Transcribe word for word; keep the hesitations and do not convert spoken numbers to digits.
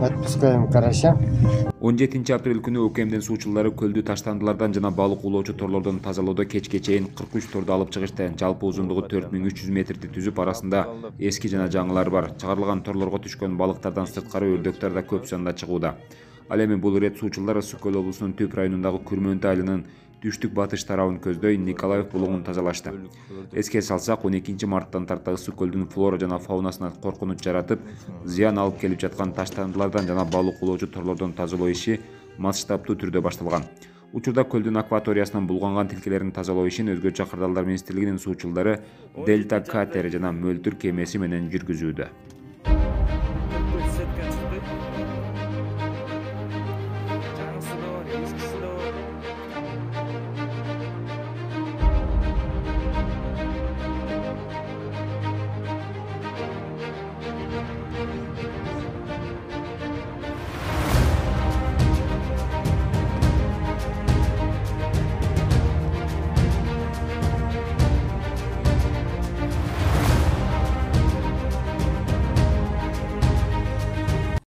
Отпускаем карася. он жетинчи апрель күнү УКМдин суучулары көлдү таштандылардан жана балык уулоочу торлордон тазалоодо кечке чейин кырк үч торду алып чыгышты. Жалпы узундугу төрт миң үч жүз метрди түзүп, арасында эски жана жаңылар бар. Чыгарылган торлорго түшкөн балыктардан сырткары өрдөктөр да көп санда чыгууда. Ал эми бул ирет суучулар Ысык көл облусунун Түп районундагы Күрмөнтү айылынын түштүк батыш тарабын көздөй Николаев булугун тазалашты. Эске салсак, он экинчи марттан тарта Ысык көлдүн флора жана фаунасына коркунуч жаратып, зыян алып келип жаткан таштандылардан жана балык уулоочу торлордон тазалоо иши масштабтуу түрдө башталган. Учурда көлдүн акваториясынан булганган тилкелерин тазалоо ишин Өзгөчө Кырдаалдар министрлигинин суучулдары Дельта катери жана Мөлтүр кемеси менен жүргүзүүдө.